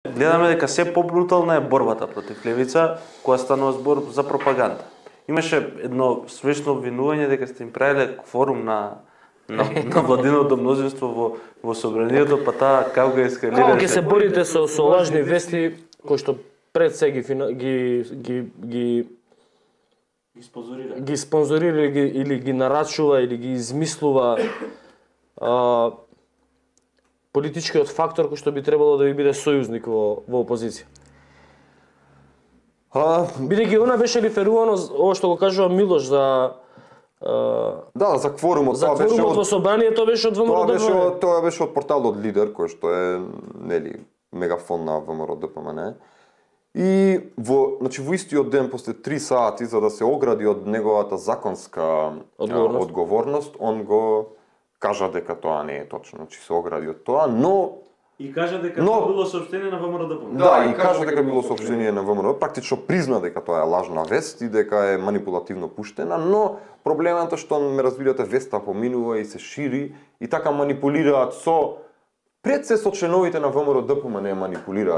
Гледаме дека се побрутална е борбата против левица, која станува збор за пропаганда. Имаше едно смешно обвинување дека сте им правиле кворум на владиното мнозинство во собранието, па таа како го ескалираше. Како ќе се борите со лажни вести кои што пред се ги спонзорира или ги нарачува или ги измислува политичкиот фактор кој што би требало да ви биде сојузник во опозиција. Бидејќи она беше реферувано ова што го кажува Милош за да, за кворумот. За кворумот во собранието беше од ВМРО-ДПМН. Тоа беше од порталот Лидер, кој што е нели мегафон на ВМРО-ДПМН. И во истиот ден после 3 сати за да се огради од неговата законска одговорност, он го кажа дека тоа не е точно, че се огради од тоа, но и кажа дека било соопштение на ВМРО-ДПМН. Да, и кажа дека било соопштение на ВМРО, практично призна дека тоа е лажна вест и дека е манипулативно пуштена, но проблемот е што ме разбирате веста поминува и се шири и така манипулираат пред се со членовите на ВМРО-ДПМН манипулираат.